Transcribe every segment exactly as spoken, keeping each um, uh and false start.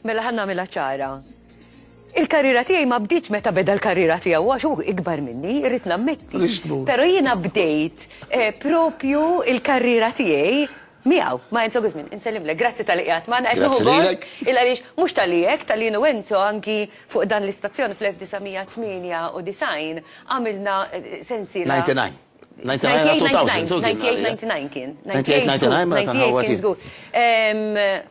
Mela ħa nagħmilha ċara. Il-karriera tiegħi ma bdietx meta beda l-karriera tiegħu, għax hu ikbar minni, irrid nammetti. Però jiena bdejt eh, propju il-karriera tiegħi miegħu, ma' Enzo Guzmin. Insellimlek, grazzi talli qiegħed magħna. Qed Grazzi nieħu gost lilek. Il għaliex mhux talli hekk, talli jien u Enzo anki fuq dan l-istazzjon fl-elf disa' mija tmienja u disgħin għamilna eh, sensiela. disgħa u disgħin. disgħa u disgħin, elfejn, kien disgħa u disgħin, disgħa u disgħin kien. disgħa u disgħin, mela disgħa u disgħin kien tanħawwa żgur. Em,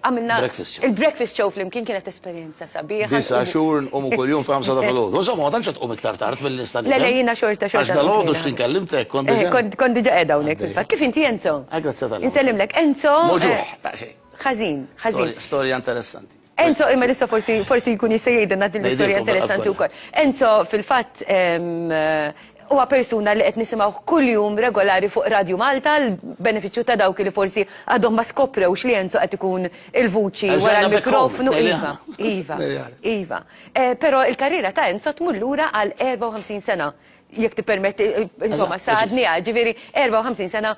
Għamilna Breakfast show. Il-breakfast show flimkien kienet esperjenza sabiħa. Disa' xhur nqumu kuljum f'ħamsa ta' filgħodu. Insomma, ma tantx tqum iktar tard mill-lista. Le, le, jiena xorta, xorta. Għax dalgħodu x'tin kellimtek, kont Eh, diġà. Kont kont diġà qiegħda hawnhekk fil-fatt. Kif inti, Enzo? Ah, grazzi tal Insellimlek. Enzo. Muġugħ, eh, ta' xejn. Ħażin, ħażin. Storja- Storja interessanti. Enzo, imma issa forsi forsi jkun jista' jgħidilna din l-istorja Ngħidilkom interessanti kollha. wkoll. Enzo fil-fatt em, eh, huwa persuna li qed nisimgħu kuljum regolari fuq Radio Malta, l-benefiċċju ta' dawk li forsi għadhom ma skoprewx li Enzo qed ikun il-vuċi wara Erġajna back l-mikrofonu. home, Iva, iva, iva. Eh, Però il-karriera ta' Enzo tmur lura għal erbgħa u ħamsin sena. Jekk tippermetti, eh, insomma, Eżatt, sadni, ġifieri erbgħa u ħamsin sena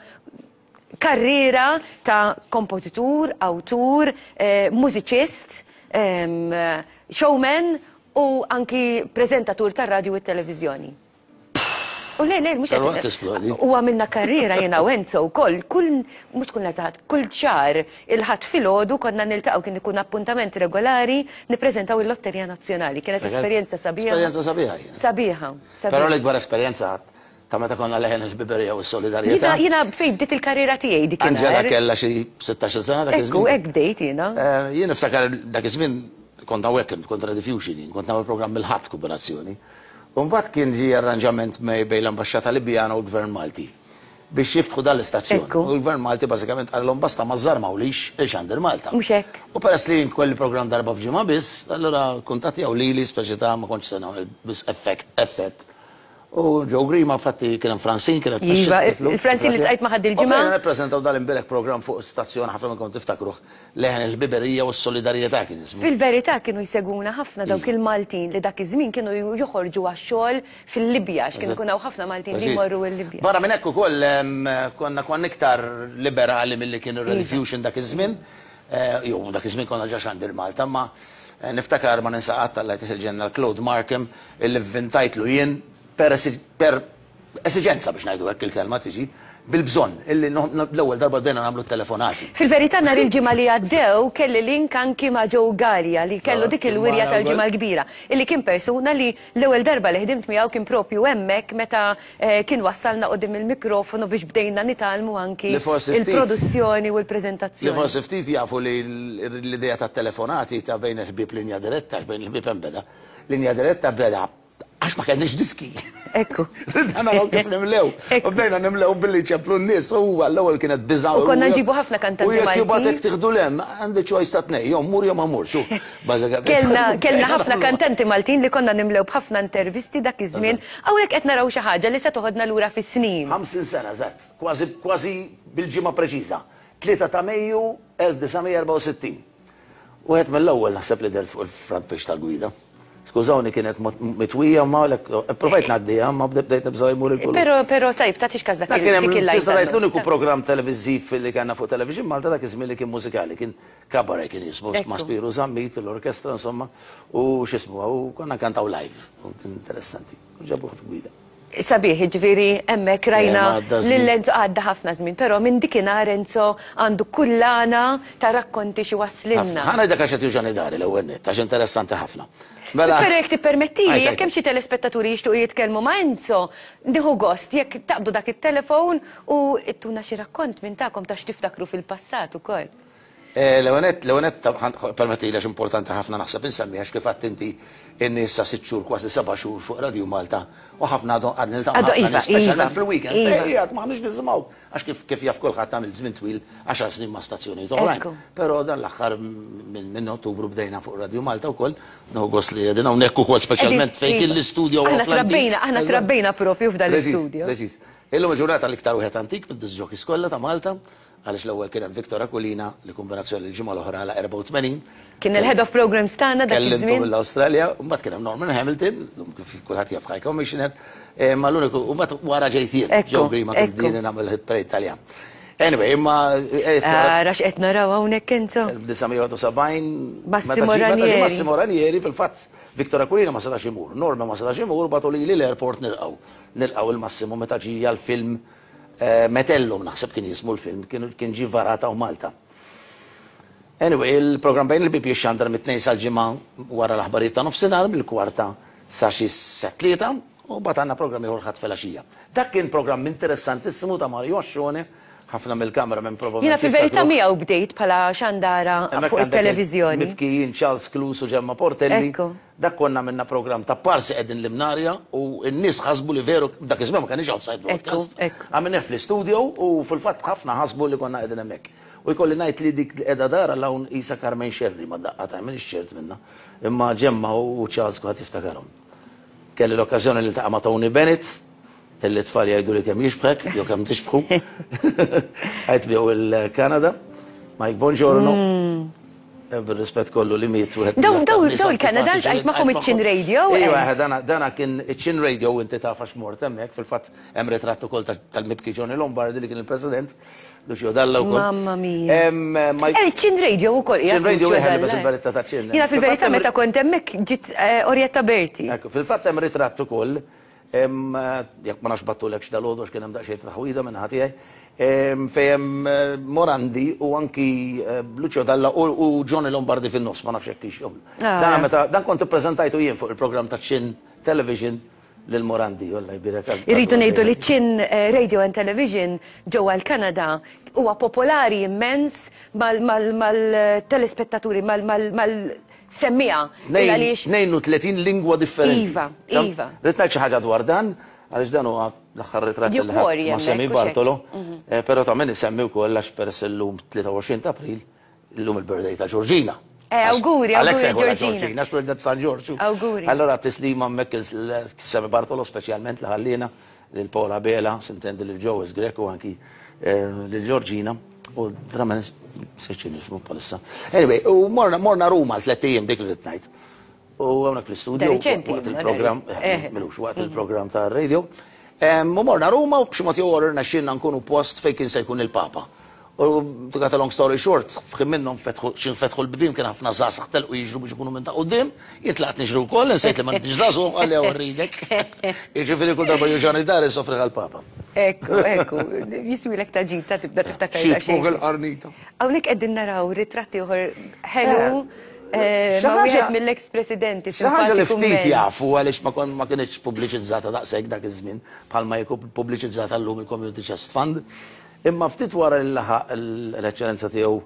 karriera ta' kompożitur, awtur, eh, mużiċist, em, showman u anki prezentatur tar radju u televizjoni. U le, le, mhux Tal-waqt tisplodi. U għamilna karriera jiena u Enzo u koll, kull, mhux kull nhar ta' Ħadd, kull xahar il-Ħadd filgħodu konna niltaqgħu, kien ikun appuntament regolari, nippreżentaw il-Lotterija Nazzjonali. Kienet esperjenza sabiħa. Esperjenza sabiħa kienet. Sabiħa. Però Sabiħa. l-ikbar esperjenza ta' meta konna Leħen il-Ħbiberija u s-Solidarjetà. Jiena jiena fejn bdiet il-karriera tiegħi dik. Angela kella xi sittax-il sena dak Ekku, iż-żmien. hekk bdejt jiena. Eh, Jien niftakar dak iż-żmien kont hawnhekk, kont Rediffusion, kont nagħmel programm il-Ħadd kombinazzjoni. U mbagħad kien ġie arranġament bejn l-Ambaxxata Libjana u l-Gvern Malti biex jiftħu dan l-istazzjon. Ekku. U l-Gvern Malti bażikament qalilhom basta ma żarmawlix il-Xandir Malta. Mhux hekk. U peress li kelli programm darba f'ġimgħa biss, allura kuntattjaw lili, speċi ta' ma kontx se nagħmel biss effett, effett. U Joe Grima, fatti, kien hemm Francine, kienet Iva, tmexxi il-Francine li ltqajt magħha dil-ġimgħa. U bdejna nippreżentaw dal-imbierek programm fuq stazzjon, ħafna minnkom tiftakruh, Leħen il-Ħbiberija u s-Solidarjetà kien ismu. Fil-verità kienu jsegwuna ħafna dawk il-Maltin li dak iż-żmien kienu joħorġu għax-xogħol fil-Libja, għax kienu jkun hawn ħafna Maltin li Preċiż. jmorru l-Libja. Barra minn hekk ukoll em, konna konna iktar liberali milli kienu Rediffusion dak iż-żmien. Eh, Jew dak iż-żmien konna ġa Xandir Malta, ma eh, niftakar, ma ninsa qatt, Alla jtih il-ġenna, Claude Markham, illi vvintajtlu jien per esi- per esiġenza, biex ngħidu hekk il-kelma tiġi bil-bżonn, illi no- no- l-ewwel darba bdejna nagħmlu telefonati. Fil-verità nhar il-Ġimgħa li għaddew kelli link anki ma' Joe Gallia li kellu dik il-wirja Magħna tal-Ġimgħa wkoll. l-Kbira, illi kien persuna li l-ewwel darba li ħdimt miegħu kien propju hemmhekk meta eh, kien wassalna quddiem il-mikrofonu biex bdejna nitgħallmu anki Li forsi ftit- il-produzzjoni u Li l-preżentazzjoni. forsi ftit jafu li l- l-idea ta' telefonati ta' Bejn il-Ħbieb, Linja Diretta, għax Bejn il-Ħbieb hemm beda. Linja Diretta beda għax ma kellniex diski. Ekku. Ridna naraw kif nimlew. Ekku. U bdejna nimlew billi ċemplu n-nies u għall-ewwel kienet biża'. U konna nġibu ħafna kantanti U jekk Maltin. jibgħatek tieħdu lem, għandi choice ta' tnej, jew mur jew ma murx. Bażikament. Kellna, kellna ħafna kantanti Maltin li konna nimlew b'ħafna intervisti dak iż-żmien. Hawnhekk qed naraw xi ħaġa li se toħodna lura fis-snin. ħamsin sena, eżatt, kważi kważi bil-ġimgħa preċiża. tlieta ta' Mejju elf disa' mija erbgħa u sittin. Wieħed mill-ewwel naħseb li dert fuq il-front page tal-Gwida. Skużawni, kienet mot- mitwija ma lek, provajt ngħaddiha, ma bdejt nibża' jmur il-kulur. Però però tajb, tagħtix każ dak Dak kien il- dik hemm il-lajta. tista' tgħid l-uniku programm televiżiv li kellna fuq Television Malta dak iż-żmien li kien mużikali, kien cabaret kien jismu, Ekku. ma' Spiru Zammit, l-orkestra insomma, u x'ismu, u konna kantaw live, u kien interessanti. U ġabuh fil-Gwida. Sabiħ, ġifieri, hemmhekk rajna Eh, ma għadda żmien. lil Enzo, għadda ħafna żmien, però minn dikinhar Enzo għandu kullana ta' rakkonti xi waslilna. Ħa ngħidlek għax qed juġgħani dari l-ewwel nett, għax interessanti ħafna. Mela. Però jekk tippermettili, Għajt, jekk għajt. hemm xi telespettaturi jixtuqu jitkellmu ma' Enzo, nieħu gost jekk taqbdu dak it-telefon u ittuna xi rakkont minn tagħkom ta' x'tiftakru fil-passat ukoll. Eh, L-ewwel nett, l-ewwel nett, permetti, għax importanti ħafna naħseb insemmi, għax kif għedt inti inni issa sitt xhur, kważi seba' xhur fuq Radio Malta u ħafna għadhom għad niltaqgħu Għadu, ħafna iva, nies, speċjalment iva, fil-weekend. iva. Ejja, m'aħniex nisimgħu. Għax kif kif jaf kulħadd għamil żmien twil, għaxar snin ma' stazzjonijiet oħrajn. Ekku. Però dan l-aħħar minn minn Ottubru bdejna fuq Radio Malta wkoll, nieħu gost li qegħdin hawnhekk ukoll, speċjalment fejn kien Iva. l-istudio Aħna fl-antik. trabbejna, aħna Eżatt. trabbejna propju f'dan Preċiż, l-istudio. Preċiż. Illum il-ġurnata l-iktar wieħed antik mid-disc jockeys kollha ta' Malta, għaliex l-ewwel kien hemm Victor Aquilina li kombinazzjoni l-ġimgħa l-oħra għal erbgħa u tmenin. Kien il-head of programs tagħna dak Kellimtu iż-żmien. mill-Awstralja, u mbagħad kien hemm Norman Hamilton, lum kif kulħadd jaf High Commissioner, eh, ma l-uniku, u mbagħad wara ġejt jien, Ekku, Joe Grima, kif ekku. din nagħmel hit parade Taljan. Anyway, imma. Ara x'qed naraw hawnhekk, Enzo. elf disa' mija u sebgħin. Massimo meta ġie- meta ġie Ranieri. Massimo Ranieri, fil-fatt, Victor Aquilina ma setax imur, Norma ma setax imur, bagħtu lili l-airport nilqgħu. Nilqgħu il-Massimo meta ġie għal-film eh, Metellum, naħseb kien jismu l-film, kien kien ġie varata u Malta. Anyway, il-program Bejn il-Ħbieb jixxandar mit-Tnejn sal-Ġimgħa wara l-aħbarijiet ta' nofsinhar, mill-kwarta sa xi tlieta, u mbagħad għandna programm ieħor Ħadd filgħaxija. Dak kien programm interessantissimu ta' Mario Ascione, ħafna mill-kamera minn probabbilment Jiena fil-verità jiftakruh. miegħu bdejt bħala xandara Hemmhekk fuq għandek it-televiżjoni. Mibkijin Charles Cluse u Ġemma Portelli. Ekku. Dak konna minna program ta' parsi qegħdin l-Imnarja u n-nies ħasbu li veru dak iż-żmien ma kienx outside broadcast. Ekku, ekku. Għamilnieh fl-istudio u fil-fatt ħafna ħasbu li konna qegħdin hemmhekk. U jkolli ngħid li dik li qiegħda dara l-hawn isa Carmen Scerri ma daqqa ta' minn ċert minna. Imma Ġemma u Charles kulħadd jiftakarhom. Kelli l-okkażjoni li ltaqa' ma' Tony Bennett, illi tfal jgħidu li kemm jixbħek, jew kemm tixbħu. Għajt bjew il-Kanada. Mike Bongiorno. Eh, Bir-rispett kollu li miet wieħed Daw- mill-aktar daw- nies daw il-Kanada antipatiċi li ltqajt magħhom ltqajt iċ-Chin Radio, Iva, Enz. dana dana kien iċ-Chin Radio, inti taf għax mort hemmhekk, fil-fatt hemm ritratt ukoll ta- tal-mibki Johnny Lombardi li kien il-President, Lucio Dalla wkoll. Mamma mia. Em, Mike- Eh, Chin Radio ukoll. Chin Radio wieħed li bes il-beretta ta' Chin. Jiena fil-verità Fil-fatt hemm- meta kont hemmhekk ġiet eh, Orietta Berti. Ekku, fil-fatt hemm ritratt ukoll, em, jekk ma nafx bgħattulek x'dalgħodu għax kien hemm daqsxejn ta' taħwida minn ħati, fejn hemm eh, Morandi u anki eh, Lucio Dalla u u Johnny Lombardi fin-nofs, ma nafx jekk hix. Ah. Dan meta dan kont ippreżentajtu jien fuq il-programm ta' Chin Television lil Morandi, Alla jbierek. Irridu ngħidu li Chin eh, Radio and Television ġewwa l-Kanada huwa popolari immens mal-telespettaturi, mal-semmiegħa. Għaliex tnejn u tletin lingwa differenti. Iva, Tam- iva. Rrid ngħid xi ħaġa dwar dan, għaliex dan huwa l-aħħar ritratt li Duke ħadd Warri ma' hemmhekk, Semi u xek. Bartolo, eh, però ta' min isemmi wkoll għax peress illum tlieta u għoxrin ta' April, illum il-birthday ta' Georgina. Eh, auguri, Għalhekk auguri, sejħula Georgina. Georgina, għax tweldet San Ġorġu. Auguri. Allora tislima hemmhekk il-Semi Bartolo speċjalment li ħallina lil Paola Bela, sintendi lil Joe Greco, anki eh, lil Georgina. U verament seċin jismu palissa. Anyway, u morna, morna Ruma l-tlett ijiem, dik li rrid ngħid. U hawnhekk fl-istudio, Da riċenti, waqt ma il-programm, eh. milux, waqt il-programm ta' radio. Em, U morna Ruma u b'xi mod jew ieħor rnexxielna nkunu post fejn kien se jkun il-Papa. U to cut a long story short, f'ħin minnhom fetħu xin fetħu l-bibien, kien ħafna żgħażagħ telqu jiġru biex ikunu minn ta' quddiem, jien tlaqt niġru wkoll, insejt li ma nix żagħżugħ, għalli hawn rridek. Jiġifieri kull darba juġani dar sofri għal-Papa. Ekku, ekku, jiswilek ta' ġita tibda tiftakar. Xi daqsxejn. fuq il-qarnita. Hawnhekk qegħdin naraw ritratti oħor ħelu eh, Xi ma' ħaġa- wieħed mill-ex presidenti. Xi ħaġa li simpatiku ftit immens. jafu għaliex ma kon ma kienx pubbliċizzata daqshekk dak iż-żmien bħalma jkun pubbliċizzata llum il-Community Chest Fund. Imma ftit wara li laħaq l-eċċellenza tiegħu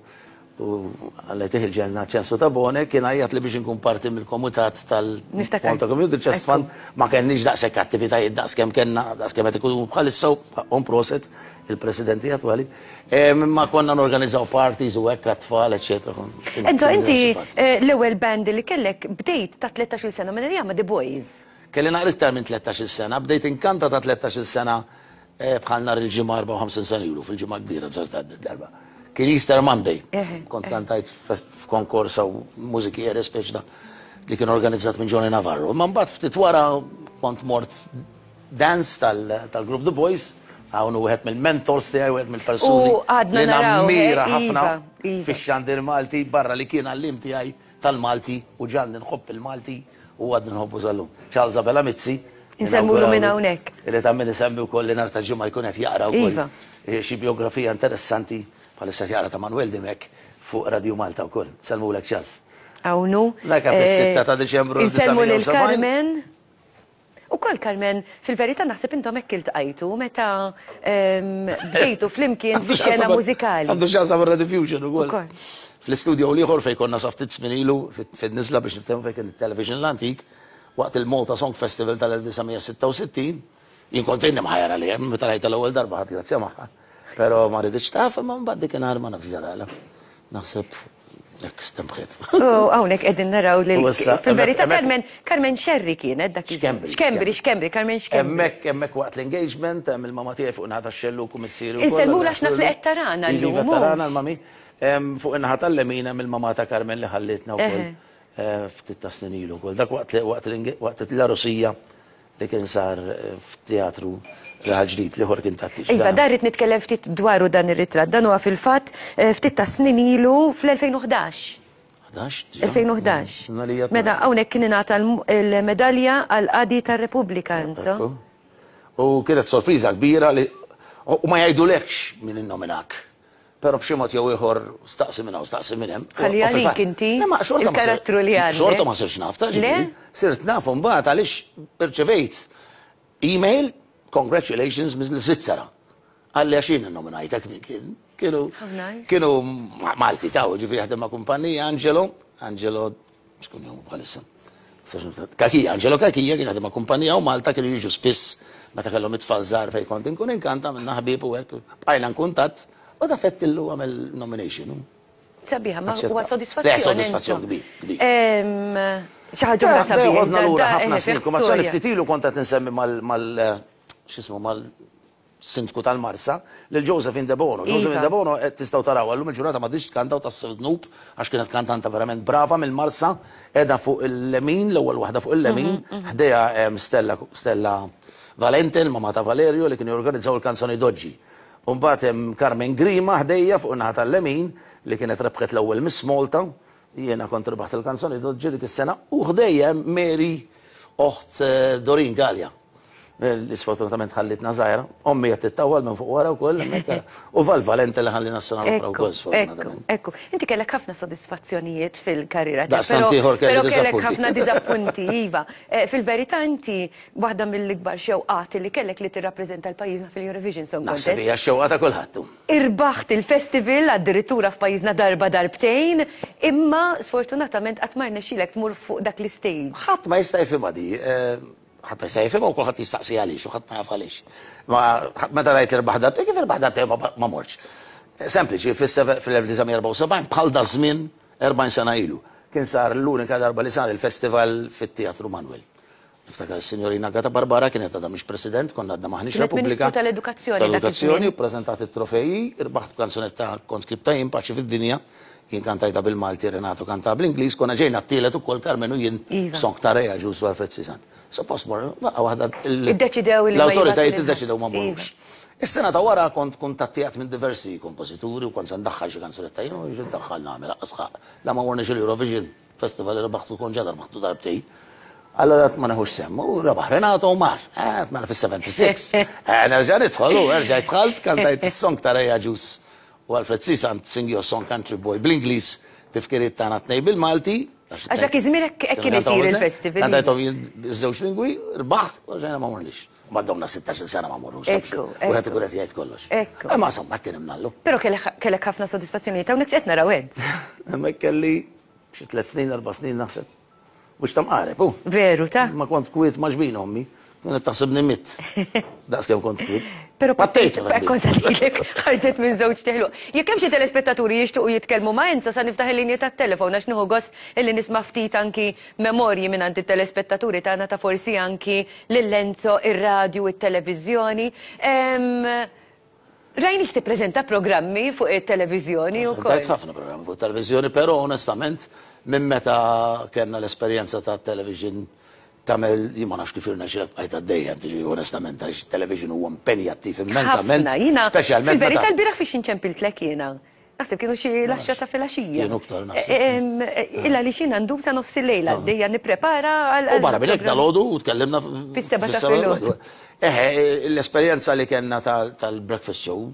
u Alla jtih il-ġenna Ċensu Tabone kien għajjat li biex inkun parti mill-komitat Niftakar. tal-Malta Community Chest Ekku. Fund. Ma kenniex daqshekk attivitajiet daqskemm kellna, daqskemm qed ikunu bħalissa, u proset il-presidenti attwali. Ma konna norganizzaw parties u hekk għat-tfal, eċetera. Enzo, inti eh, l-ewwel band li kellek bdejt ta' tlettax-il sena minn ma' The Boys. Kelli naqra iktar minn tlettax-il sena, bdejt inkanta ta' tlettax-il sena, eh, bħal nhar il-Ġimgħa erbgħa u ħamsin sena ilu, fil-Ġimgħa Kbira żarta darba. Kien Easter Monday. Eħe, Kont kantajt f'konkors u mużikiere speċi da li kien organizzat minn Johnny Navarro. Ma mbagħad ftit wara kont mort dance tal- tal-Group The Boys, hawn wieħed mill-mentors tiegħi, wieħed mill-persuni U għadna li naraw, nammira eh, ħafna iva, iva. fix-xandir Malti, barra li kien għallim tiegħi tal-Malti u ġalni nħobb il-Malti u għadni nħobbu sal-lum. Charles Abela Mizzi. Insemmulu minn hawnhekk. Li ta' min isemmi wkoll li nhar ta' Ġimgħa jkun qed jaqra wkoll Iva. eh, xi biografija interessanti, bħalissa jaqra ta' Manuel Dimech fuq Radio Malta wkoll. Sellmulek, Charles. Hawnhu. Dak fis-sitta ta' Diċembru Insellmu lil elf disa' mija u sebgħin. Carmen. U kol Carmen, fil-verità naħseb intom hekk iltqajtu meta ehm, bdejtu flimkien fi xena mużikali. Għandu x'jaqsam Rediffusion ukoll. Ukoll. Fl-istudio l-ieħor fejn konna sa ftit żmien ilu fin-niżla biex niftehmu fejn kien it-television l-antik, waqt il-Malta Song Festival tal-elf disa' mija sitta u sittin, jien kont inni mħajra li hemm meta rajta l-ewwel darba ħadd grazzja magħha. Però ma riditx taf, ma mbagħad dik inhar ma nafx ġarala. Naħseb hekk stembħet. U hawnhekk qegħdin naraw lil U issa, fil-verità hemmhekk- Carmen Carmen Scerri kienet dak iż- Xkembri, Xkembri, Xkembri, Carmen Xkembri. Hemmhekk hemmhekk waqt l-engagement hemm il-mama tiegħi fuq naħa tax-xellug u missieri wkoll. Insellmula għax naf li qed tarana llum, Iva, mhux? tarana l-mami. Em, Fuq in-naħa tal-lemin hemm il-mama ta' Carmen li ħallitna wkoll Eħe. eh, ftit ta' snin ilu wkoll. Dak waqt li- waqt l-enge- waqt l-għarusija li kien sar eh, f'teatru Raħal Ġdid, l-ieħor kien tat-tieġ. Iva, dan irrid nitkellem ftit dwaru dan ir-ritratt. Dan huwa fil-fatt eh, ftit ta' snin ilu fl-elfejn u ħdax. ħdax? elfejn u ħdax. Meta hawnhekk kien ingħata l-medalja għal qadi tar-Repubblika, Enzo. U kienet sorpriża kbira li u ma jgħidulekx min innominak. Però b'xi mod jew ieħor staqsi minn hawn, staqsi minn hemm. Ħalli U għalik fil-fatt- inti Le, ma xorta ma sir- il-karattru li għandek. Xorta ma sirx naf, ta' Le? ġifieri. Sirt naf mbagħad għaliex irċevejt email, congratulations mill-Svizzera. Għalli għax jien innominajtek min kien. Kienu How nice. kienu ma- Malti taw, ġifieri jaħdem ma' kumpanija, Angelo, Angelo, x'kun jomu bħalissa. Kakija, Angelo Kakija kien jaħdem ma' kumpanija u Malta kienu jiġu spiss meta kellhom it-tfal żgħar fejn kont inkun inkanta minna ħbieb u hekk, bqajna nkuntatt u da fettillu għamel nomination. Sabiħa, ma Aċċetta. huwa sodisfazzjon. Le, sodisfazzjon Enzo. kbir, kbir. Ehm, Xi ħaġa oħra sabiħa. Għodna da- lura da- ħafna eh, snin, fih kumazzjoni storja. ftit ilu kont qed insemmi mal, mal, x'ismu, mal sindku tal-Marsa, lil Josephine Debono. Josephine Iva. Debono qed tistgħu taraw għallum il-ġurnata ma diġ tkanta u tassew dnub għax kienet kantanta verament brava mill-Marsa, qiegħda fuq il-lemin, l-ewwel waħda fuq il-lemin, ħdejha hemm Stella, Stella Valente, il-mama ta' Valerio li kienu jorganizzaw il-kanzoni d'Oggi. U mbagħad hemm Carmen Grima ħdejja fuq in-naħa tal-lemin li kienet rebħet l-ewwel Miss Malta, jiena kont rebaħt il-kanzoni d'Oggi dik is-sena, u ħdejja hemm Mary oħt, eh, Doreen Galea. Li sfortunatament ħallitna żgħira, ommi qed tittawwal minn fuq wara wkoll hemmhekk. U Val Valente li ħallina s-sena l-oħra Ekku, wkoll ekku, sfortunatament. ekku. Inti kellek ħafna sodisfazzjonijiet fil-karriera tiegħek, Daqstant però ieħor kelli però kellek diżappunti. ħafna diżappunti, iva. Eh, Fil-verità inti waħda mill-ikbar xewqat li kellek li tirrappreżenta l-pajjiżna fil-Eurovision Song Naħseb Contest. hija x-xewqa ta' kulħadd. Irbaħt il-festival addirittura f'pajjiżna darba darbtejn, imma sfortunatament qatt ma rnexxielek tmur fuq dak l-istage. Ħadd ma jista' jifhimha di, eh, ħadd ma jista' jifhimha u kulħadd jistaqsi għaliex u ħadd ma jaf għaliex. Ma meta rajt irbaħ darbtejn, kif irbaħ darbtejn ma ma morx. Sempliċi, fil-elf disa' mija erbgħa u sebgħin bħal da żmien erbgħin sena ilu. Kien sar l-unika darba li sar il-festival fit-Teatru Manuel. Niftakar il-Signorina Agata Barbara kienet għadha mhix president, konna għadna maħniex Kienet Repubblika. Ministru tal-Edukazzjoni dak Tal-Edukazzjoni, iż-żmien. u preżentat it-trofeji, irbaħt kanzunetta kont skribta jien Paċi fid-dinja, jien kantajta bil-Malti, Renato kanta bl-Ingliż, konna ġejna t-tielet ukoll Karmenu jien Iva. song ta' Rea Ġus u Alfred Sisant. Suppost mor, laqgħa waħda il- Iddeċidew li ma l-awtoritajiet jibgħatu lil iddeċidew ma ħadd. morrux. Is-sena ta' wara kont kuntattijat minn diversi kompożituri u kont se ndaħħal xi kanzunetta jien u jiġi ndaħħal nagħmel aqsħaq. La ma morniex il-Eurovision Festival li rebaħtu kont ġadar rebaħtu darbtej. Allora ma neħux semm, u rebaħ Renato u mar, eh, mela fis-seventy-six. Eh, nerġa' nidħol u nerġa' dħalt, kantajt is-song ta' Rea Ġus u Alfred Sisant, Sing Your Song Country Boy bl-Ingliż, tifkiriet tagħna tnej bil-Malti. Għax dak iż-żmien hekk hekk kien isir il-festival. Kantajthom jien żewġ lingwi, rbaħt, u ġejna ma morniex. Ma domna sittax-il sena ma morrux. Ekku, U qed ekku. ikun qed jgħid kollox. Ekku. Imma insomma kien imnallu. Però kellek kellek ħafna sodisfazzjonijiet, hawnhekk x'qed naraw Enz. Hemmhekk kelli xi tliet snin, erba' snin naħseb. Mhux ta' mqareb, hu. Veru, ta' Ma kont kwiet ma' ġbin ommi. Kienet taħsibni mitt. Daqs kemm kont kwiet. Però pattejt. Kont ngħidlek, ħarġet minn żewġ teħlu. Jekk hemm xi telespettaturi jixtiequ jitkellmu ma' Enzo, sa niftaħ il-linja tat-telefon għax nieħu gost illi nisma' ftit anki memorji minn għand it-telespettaturi tagħna ta' forsi anki lil Enzo, ir-radju, it-televiżjoni. Em, Rajnik tippreżenta programmi fuq it-televiżjoni wkoll. Preżentajt ħafna programmi fuq it-televiżjoni, però onestament minn meta kellna l-esperjenza ta' television tagħmel, jien ma nafx kif irnexxielek bqajt għaddejja, tiġi onestament, għax television huwa impenjattiv immensament, Ħafna, jiena speċjalment fil-verità meta l-bieraħ fiex inċempiltlek jiena. Naħseb kienu xi l-għaxra ta' filgħaxija. Kienu iktar, naħseb. Em, Illa li xina ndum sa nofs il-lejla, dejja nipprepara għal. U barra minn hekk dalgħodu u tkellimna Fis-seba' ta' fis-seba' filgħodu. Eħe, l-esperjenza li kellna tal- tal-breakfast show,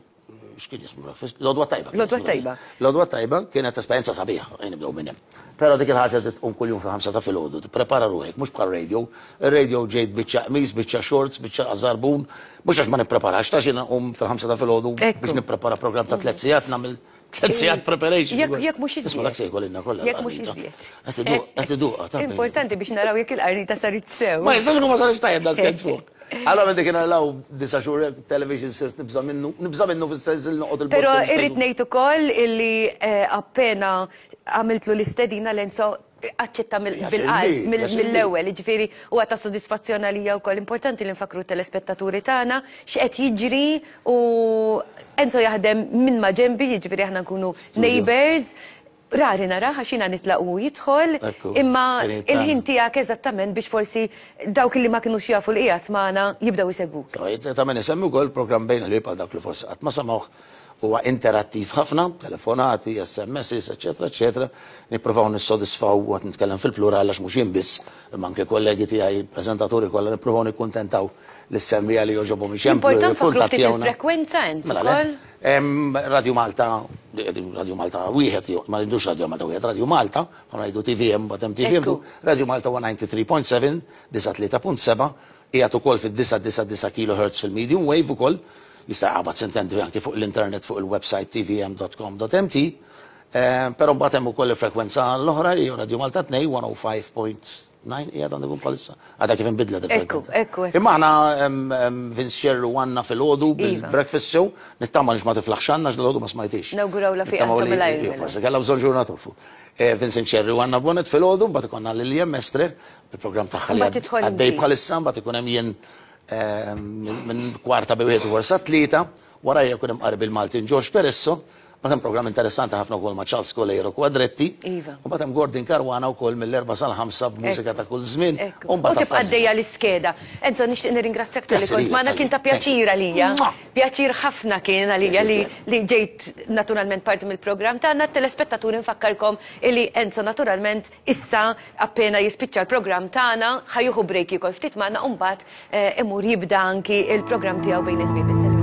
x'kien jismu breakfast? L-Għodwa Tajba. kien L-Għodwa jismu Tajba. L-Għodwa Tajba kienet esperjenza sabiħa, ejn nibdew minn hemm. Però dik il-ħaġa li tqum kuljum fil-ħamsa ta' filgħodu, tipprepara ruħek, mhux bħal radio. Ir-radio ġejt biċċa qmis, biċċa shorts, biċċa żarbun, mhux għax ma nippreparax, ta' xi nqum fil-ħamsa ta' filgħodu Ekku. biex nipprepara programm ta' tliet sigħat nagħmel tliet sigħat preparation. Jekk jekk mhux iżjed. Isma' dak se jkollna kollha. Jekk mhux l-qarnita. iżjed. Qed iduq, qed iduqha, ta' Importanti biex naraw jekk il-qarnita sarit sew. Ma jistax ikun ma sarx tajjeb da skent fuq. Allora minn dik naraw disa' xhur television sirt nibża' minnu, nibża' minnu fis-sens li noqgħod il-bogħod Però kemm jista' irrid jkun. ngħid ukoll illi, eh, appena għamiltlu l-istedina Lenzo aċċetta mill- Pjaċir bil-qalb, li, mill- pjaċir li. mill-ewwel, jiġifieri huwa ta' sodisfazzjon għalija wkoll. Importanti li nfakru t-telespettaturi tagħna x'qed jiġri u Enzo jaħdem minn ma' ġenbi, jiġifieri aħna nkunu Studio. neighbors. Rari nara għax jiena nitlaq u jidħol, Ekku, imma kien jitana. Il-ħin tiegħek eżattament biex forsi dawk li ma kinux jafu li qiegħed magħna jibdew isegwuk. Ta' min isemmi wkoll programm Bejn il-Ħbieb, għal dak li forsi qatt ma semgħuh, huwa interattiv ħafna, telefonati, S M Ss, eċetera, eċetera. Nippruvaw nissodisfaw, għat nitkellem fil-plural għax mhux jien biss, imma anke kollegi tiegħi, preżentaturi kollha, nippruvaw nikkuntentaw lis-semmiegħa li jogħġobhom iċemplu, Important fakru ftit jikkuntattjawna. Il-frekwenza, Enzo, Mela, le. ukoll. Em, Radio Malta, Radio Malta wieħed, jew- ma ngħidux Radio Malta wieħed, Radio Malta, ma ngħidu T V M, but hemm T V M, Ekku. Radio Malta disgħa u disgħin punt seba', disgħa tlieta punt seba', qiegħed ukoll fid-disgħa disgħa disgħa kilohertz fil-medium wave ukoll, jista' jaqbad sintendi anke fuq l-internet fuq il-website T V M dot com dot M T. Eh, Però mbagħad hemm ukoll il-frekwenza l-oħra li hija Radio Malta tnejn, mija u ħamsa punt tnejn qiegħed għandu jkun bħalissa. Għadha kif inbidlet il-frekwenza. Ekku, ekku, ekku. Imma aħna em, em, Vince Scerru għandna filgħodu Iva. bil-breakfast show, nittama li ma tiflaħx għandna x'dal ma smajtix. Nawgurawla fiqa Nittamaw li- ta' malajr, Iju, mela. forsi kellha bżonn ġurnata off. Eh, Vincent Scerru għandna Bonnet filgħodu, mbagħad ikollna Lilian Mestre, il-programm tagħha li Mbagħad tidħol għaddej inti. bħalissa, mbagħad ikun hemm jien eh, minn minn kwarta bi wieħed u sa tlieta, wara jkun hemm Qarbi il-Maltin George Peresso, mbagħad hemm programm interessanti ħafna wkoll ma' Charles Coleiro Quadretti. Iva. U mbagħad hemm Gordon Caruana wkoll mill-erba' sal-ħamsa b'mużika ta' kull żmien. Ekku. U U mbagħad tibqa' affarijiet. għaddejja l-iskeda. Enzo, nixtieq nirringrazzjak talli Grazzi kont lilek, magħna, kien ta' Thank you. pjaċir għalija. Mwah. Pjaċir ħafna kien għalija li, Pjaċir li ġejt naturalment parti mill-programm tagħna. Telespettaturi, nfakkarkom illi Enzo naturalment issa appena jispiċċa l-programm tagħna ħa jieħu break jiekol ftit magħna u mbagħad eh, imur jibda anki il-programm tiegħu Bejn il-Ħbieb. Insellem.